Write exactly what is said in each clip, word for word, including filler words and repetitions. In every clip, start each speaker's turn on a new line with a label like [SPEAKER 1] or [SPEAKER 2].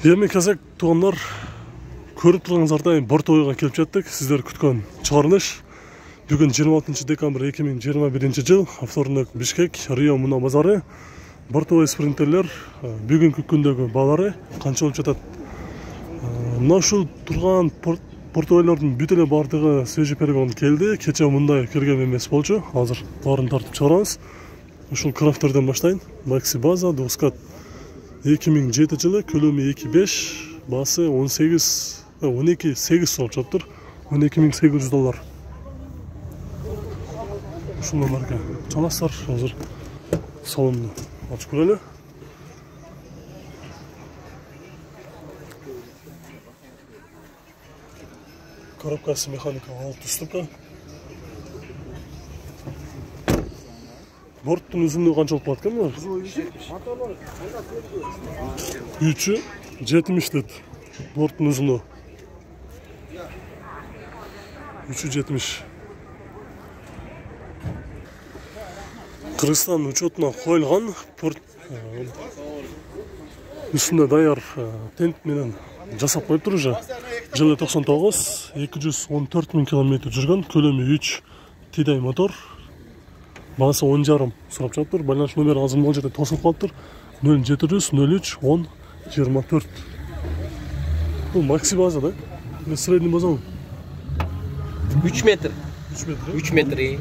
[SPEAKER 1] Эми казак туугандар, көрүп турганыңыздардай Бортобойго келип жеттик. Сиздер күткөн чыгарылыш бүгүн жыйырма алтынчы декабрь эки миң жыйырма биринчи жыл, авторунок Бишкек, Рио Муна базары. Бортобой спринтерлер бүгүнкү күндөгү баалары канча болуп жатат? Мына ушул турган Бортобойлордун бүт эле бардыгы свежий перегон келди. Кече мындай келген эмес болчу. Азыр баарын тартып чыгарабыз. Ушул крафтерден баштайын. Макси база Дускат эки миң жети жылы, көлөмү эки беш, баасы он сегиз, он эки сегиз болуп жатыр. он эки миң сегиз жүз доллар. Ушундан марка чаластар. Азыр салонду ачып көрөлү. Коробкасы механикалык алты ступка. Борттун узунлугу канча болуп калат экен булар? үч жетимиш дейт. Борттун узунлугу. үч жетимиш. Кыргызстан учетуна коюлган порт үстүндө даяр тент менен жасап коюптур уже. Жылы токсон тогуз, эки жүз он төрт миң километр жүргөн, көлөмү үч тидай мотор. Баасы он жарым сурап жатыр. Байланыш номери азыр могул жерде тосулуп калыптыр. нөл жети жүз нөл үч он жыйырма төрт. Бул макси база да? Эле средний база.
[SPEAKER 2] үч метр.
[SPEAKER 1] үч метр.
[SPEAKER 2] үч метр.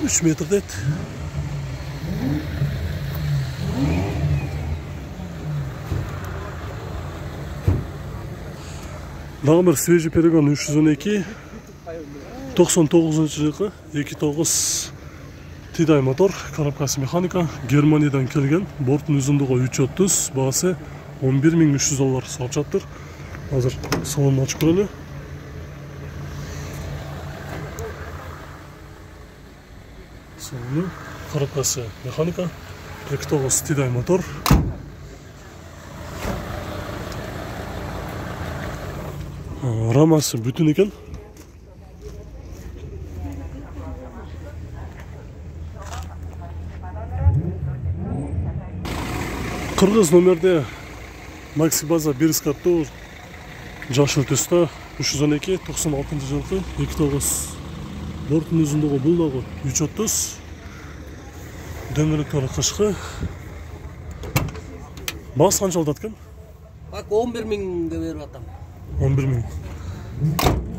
[SPEAKER 1] үч метр дейт. Дагы бир свежий перегон үч жүз он эки, токсон тогузунчу жылкы эки тогуз тидай мотор, коробкасы механика, Германиядан келген, борттун узундугу үч отуз, баасы он бир миң үч жүз доллар сурап жатыр. Азыр салонду ачып көрөлү. Салону, коробкасы механика, эки тогуз тидай мотор. Рамасы бүтүн экен. Кыргыз номерде Макси база бир скаттуу жашыл түстө үч жүз он эки, токсон алтынчы жылкы эки тогуз. Борттун узундугу бул дагы үч отуз. Дөңгөлөктөрү кышкы. Баасы канча болот экен?
[SPEAKER 2] Бак он бир миң деп берип атам.
[SPEAKER 1] он бир миң.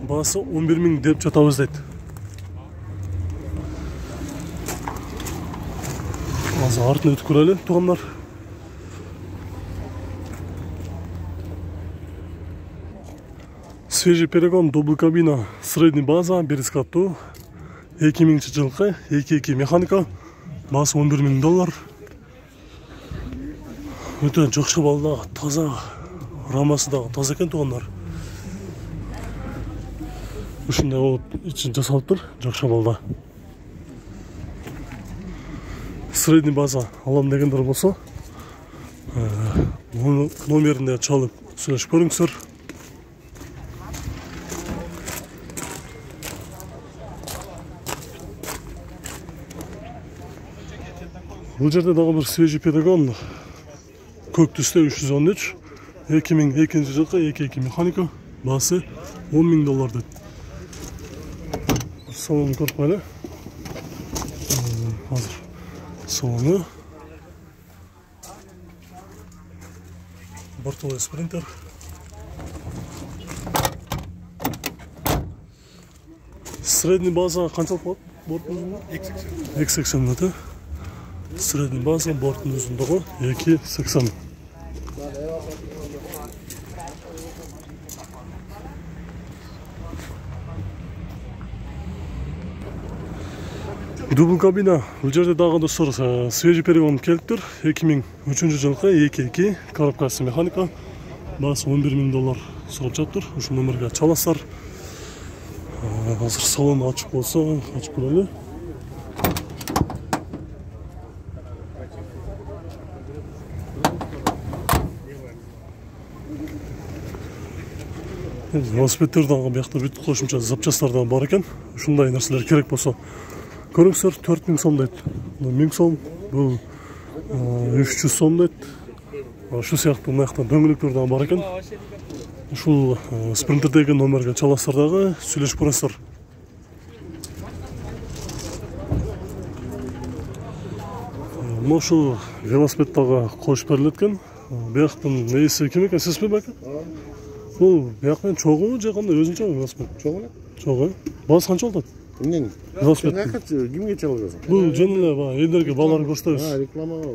[SPEAKER 1] Баасы он бир миң деп жатабыз дейт. Азыр артын өтүп көрөлү, туугандар. Свежий перегон, дубль кабина, средний база, бир скаттуу, эки миңинчи жылкы, эки эки механика, баасы он бир миң доллар. Өтө жакшы балда, таза, рамасы дагы таза экен, туугандар. Ушундай болуп ичин жасалыптыр, жакшы балда. Средний база алам дегендер болсо, номеринде чалып сүйлөшүп көрүңүздөр. Бул жерде дагы бир свежий перегон, көк түстө үч жүз он үч, эки миң экинчи жылкы эки эки механика, баасы он миң доллар дейт. Салонун көрүп коелу. Азыр салону. Бортобой спринтер. Средний база канча болот? Борттун узундугу эки сексен метр. Средний база, борттун узундугу эки сексен. Дубль кабина. Бул жерде дагы достор свежий перегон келиптир. эки миң үчүнчү жылкы эки эки, коробкасы механика, баасы он бир миң доллар сурап жатыр. Ушул номерге чаласыздар. Азыр салонду ачып болсо, ачып көрөлү. Велосипеддер дагы биякта бүт кошумча запчасттар да бар экен. Ушундай нерселер керек болсо көрүңүздөр, төрт миң сом дейт. миң сом, бул үч жүз сом дейт. Ушул сыяктуу мыякта дөңгөлөктөр дагы бар экен. Ушул спринтердеги номерге чаласыздар дагы сүйлөшүп көрөсүздөр. Ушул велосипед дагы коюп берилет экен. Бияктын ээси ким экен, сизби бака? Бул бияктан чогуу же кандай өзүнчө велосипед?
[SPEAKER 3] Чогуу эле.
[SPEAKER 1] Чогуу. Баасы канча болот?
[SPEAKER 3] Эмнени?
[SPEAKER 1] Велосипед.
[SPEAKER 3] Кимге чалгансың?
[SPEAKER 1] Бул жөн эле баягы элдерге балаларга көрсөтөбүз.
[SPEAKER 3] А, рекламага.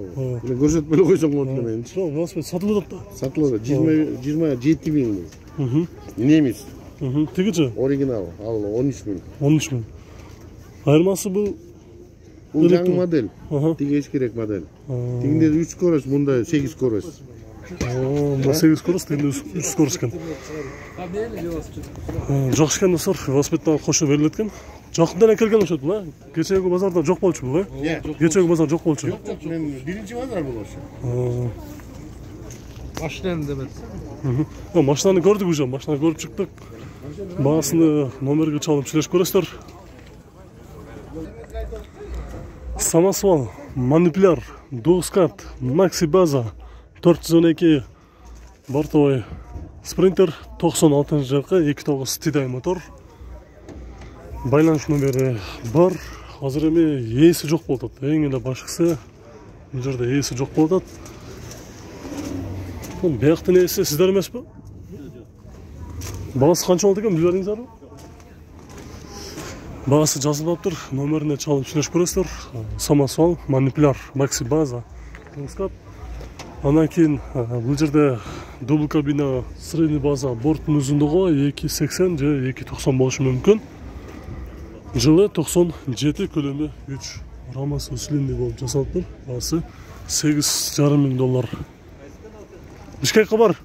[SPEAKER 3] Мен көрсөтпөй эле койсоң болду мен.
[SPEAKER 1] Жок, велосипед сатылып атат да.
[SPEAKER 3] Сатылат. жыйырма жети миң.
[SPEAKER 1] Мм.
[SPEAKER 3] Немис.
[SPEAKER 1] Мм. Тигичи
[SPEAKER 3] Оригинал. Ал он үч миң.
[SPEAKER 1] он үч миң. Айырмасы бул
[SPEAKER 3] Бул жаңы модель.
[SPEAKER 1] Аха.
[SPEAKER 3] Тиги эскирээк модель. Тигинде үч скорость, мында сегиз скорость.
[SPEAKER 1] Мында сегиз скорость, тигинде үч скорость экен. Жакшы экен достор, велосипед дагы кошо берилет экен. Жакында эле келген окшойт бул, э? Кечээги базарда жок болчу бул, э? Кечээги базар жок болчу.
[SPEAKER 3] Жок, жок, мен биринчи базар бул ошо.
[SPEAKER 2] Машинаны демет.
[SPEAKER 1] Мм. Машинаны көрдүк уже, машинаны көрүп чыктык. Баасыны номерге чалып сүйлөшүп көрөсүздөр. Самосвал, манипуляр, двускат, макси база, төрт жүз он эки бортовой спринтер, токсон алтынчы жылкы эки тогуз тидай мотор. Байланыш номери бар. Азыр эми ээси жок болуп атат. Эң эле башкысы бул жерде ээси жок болуп атат. Бул бияктын ээси сиздер эмеспи? Баасы канча болот экен, билип бериңиздерби? Баасы жазылып атыптыр. Номерине чалып сүйлөшүп көрөсүздөр. Самосвал, манипуляр, макси база, двускат. Андан кийин бул жерде дубл кабина, средний база, борттун узундугу эки сексен же эки токсон болушу мүмкүн. Жылы токсон жети, көлөмү үч. Рамасы усиленный болуп жасалыптыр. Баасы сегиз жарым миң доллар. Бишкекке бар.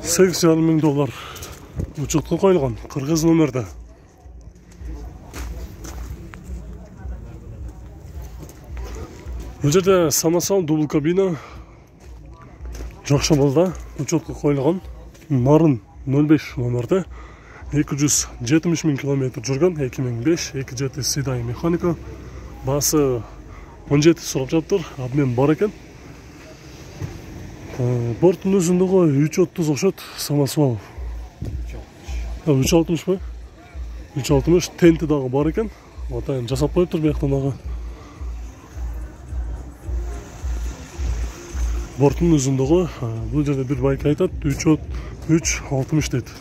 [SPEAKER 1] сегиз жарым миң доллар. Учетко коюлган, кыргыз номерде. Бул жерде самосвал, дубл кабина жакшы болду, учетко коюлган. Нарын нөл беш номерде. эки жүз жетимиш миң километр жүргөн, эки миң беш, эки жети седай механика. Баасы он жети сурап жатыптыр, обмен бар экен. Борттун узундугу үч отуз окшот, самосвал. үч алтымышпы? үч алтымыш, тенти дагы бар экен. Атайын жасап коюптур бияктан дагы. Борттун узундугу, бул жерде бир байк айтат, үч алтымыш дейт.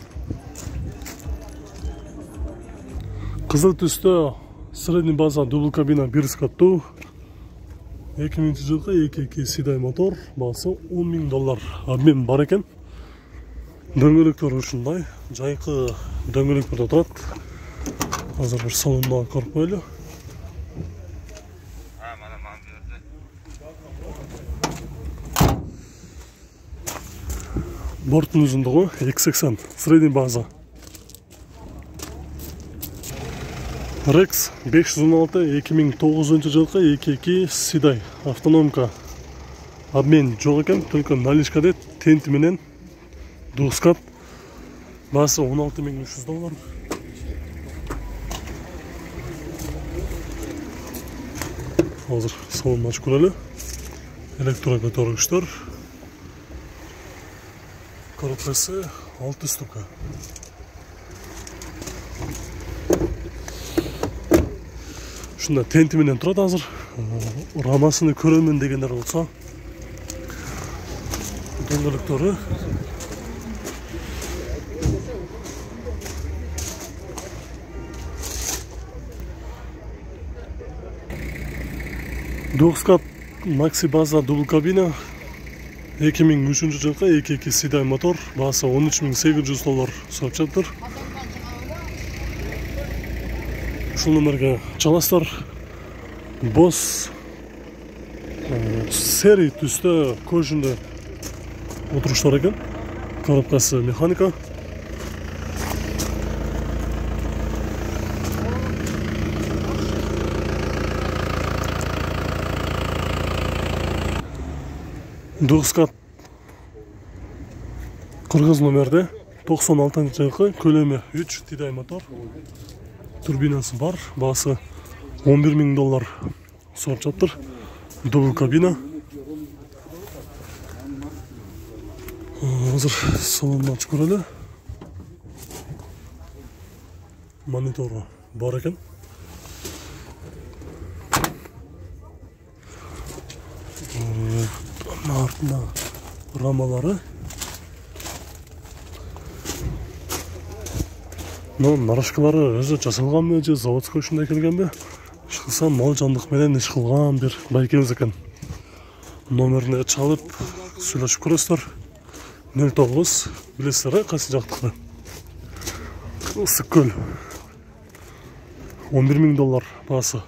[SPEAKER 1] Кызыл түстө средний база, дубл кабина, бир скаттуу. эки миңинчи жылкы эки эки седай мотор, баасы он миң доллар. Обмен бар экен. Дөңгөлөктөр ушундай, жайкы дөңгөлөктөр турат. Азыр бир салондо көрүп коелу. Борттун узундугу эки сексен, средний база. Рекс беш жүз он алты, эки миң тогузунчу жылкы эки эки седай автономка. Обмен жок экен, только наличкада тенти менен двускат. Баасы он алты миң үч жүз доллар. Азыр салонду ачып көрөлү. Электро көтөргүчтөр. Коробкасы алты ступка. Ушунда тенти менен турат азыр. Рамасыны көрөмүн дегендер болсо. Дөңгөлөктөрү. Двускат макси база, дубл кабина. эки миң үчүнчү жылкы эки эки седай мотор. Баасы он үч миң сегиз жүз доллар сурап жатыр. Ушул номерге чаласыздар. Босс серий түстө көжүндө отуруштар экен. Коробкасы механика. Двускат кыргыз номерде, токсон алтынчы жылкы, көлөмү үч, тидай мотор. турбинасы бар, баасы он бир миң доллар сурап жатыр. Дубл кабина. Азыр салонун ачып көрөлү. Монитору бар экен. Артында рамалары. Но нарашкалары өзү жасалганбы же заводской ушундай келгенби? Иш кылсам мал жандык менен иш кылган бир байкебиз экен. Номерине чалып сүйлөшүп көрөсүздөр. нөл тогуз билесиздер, кайсы жактыкы? Ысык көл. он бир миң доллар баасы.